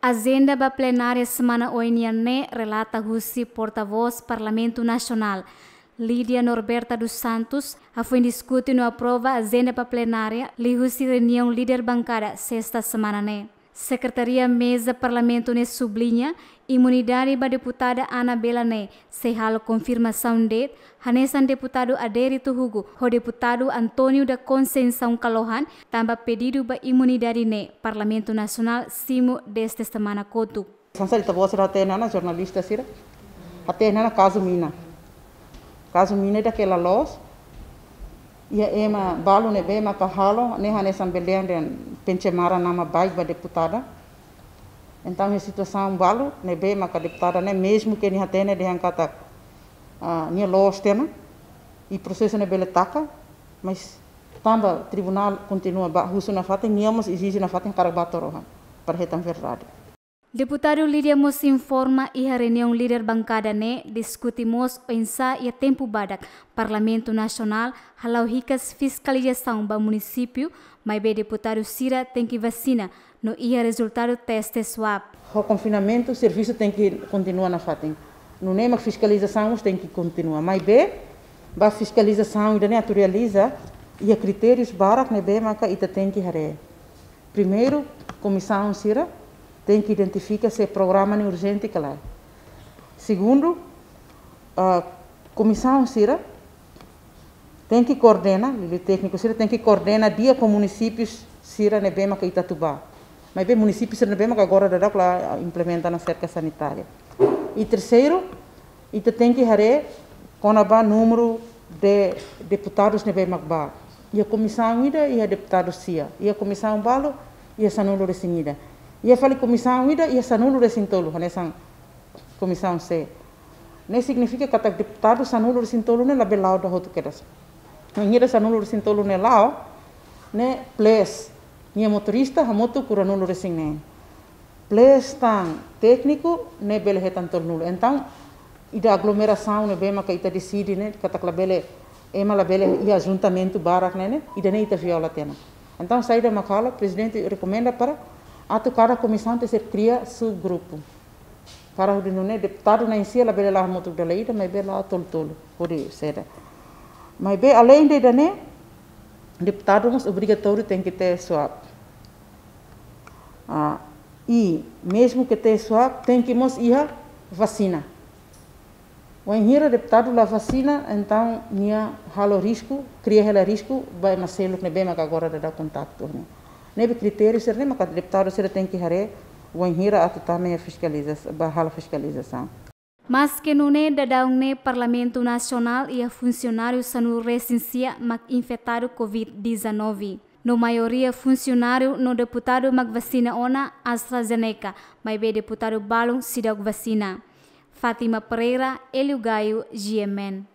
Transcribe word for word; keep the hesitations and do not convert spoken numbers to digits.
Ajenda ba plenária semana oin nian ne'e relata husi portavós Parlamentu Nasionál, Lídia Norberta dos Santos, hafoin diskute no aprova ajenda ba plenária liuhusi reuniaun líder bankada sesta semana ne'e. Sekretaria Meza Parlamentu ne'e subliña, imunidade ba deputada Anabela ne'e sei halo konfirmasaun de'it, hanesan deputadu Adérito Hugo ho deputadu António da Conceição Kalohan, tanba pedidu ba imunidade ne'e Parlamentu Nasionál simu dezde semana kotuk. Hanesan ita-boot sira hatene ona, jornalista sira hatene ona kazu mina. Kazu mina ida ke la loos. Iha ema balu ne'ebé maka halo, ne'e hanesan bele dehan pencemaran nama baik ba deputada. Entaun, iha situasaun balu ne'ebé maka deputada ne'e, mezmu ke nia hatene dehan katak, ah, nia loos tiha ona, i prosesu ne'e bele taka, mas tanba tribunál kontinua bá husu nafatin, nia mós ezije nafatin hakarak bá to'o rohan para hetan verdade. Deputadu Lídia mós informa, iha reuniaun líder bankada ne'e diskute mós oinsá iha tempu badak Parlamentu Nasionál hala'o hikas fiskalizasaun ba munisípiu, maibé deputadu sira tenke vasina no iha rezultadu teste swab. Ho konfinamentu, servisu tenke kontinua nafatin. Nune'e mak fiskalizasaun mós tenke kontinua. Maibé, ba fiskalizasaun ida-ne'e atu realiza, iha kritérius barak ne'ebé maka ita tenke haree. Primeiru, komisaun sira tenke identifika se programa ne'e urjente ka lae. Segundu, ah, komisaun sira tenke koordena, liuliu tékniku sira tenke koordena di'ak ho munisípiu sira ne'ebé maka ita atu bá. Maibé munisípiu sira ne'ebé maka agora daudauk la implementa ona serka sanitária. I terseiru, ita tenke haree kona-ba númeru de deputadus ne'ebé mak bá. Iha komisaun ida, iha deputadu sia. Iha komisaun balu, iha sanulu-resin-ida. Iha fali komisaun ida, iha sanulu-resin-tolu, hanesan komisaun C. Ne'e signifika katak deputadu sanulu-resin-tolu ne'e labele la'o ida hotu kedas. Wainhira sanulu-resin-tolu ne'e la'o, ne'e plus nia motorista hamutuk ruanulu-resin-neen. Plus tan tékniku ne'e bele hetan tolunulu. Entaun, ida aglomerasaun ne'ebé maka ita deside ne'e, katak labele, ema labele iha ajuntamentu barak ne'e, ne'e, ida-ne'e ita viola tiha ona. Entaun, saida mak halo, prezidente rekomenda para atu kada komisaun tenke kria subgrupu. Para hodi nune'e deputadu na'in-sia labele la'o hamutuk dala ida, maibé la'o tolu-tolu, hodi seda. Maibé aleinde ida-ne'e, deputadu mós obrigatóriu tenke teste swab. Ah, i mezmu ke teste swab, tenke mós iha vasina. Wainhira deputadu la vasina, entaun nia halo risku, kria hela risku ba ema seluk ne'ebé maka agora daudauk kontaktu ne'e. Ne'ebé kritériu sira-ne'e maka deputadu sira tenke haree, wainhira atu tama iha fiskaliza-, ba halo fiskalizasaun. Maske nune'e, daudaun ne'e Parlamentu Nasionál iha funsionáriu sanulu-resin-sia mak infetadu covid dezanove. No maioria funsionáriu no deputadu mak vasina ona AstraZeneca, maibé deputadu balun seidauk vasina. Fátima Pereira, Hélio Gaio, G M N.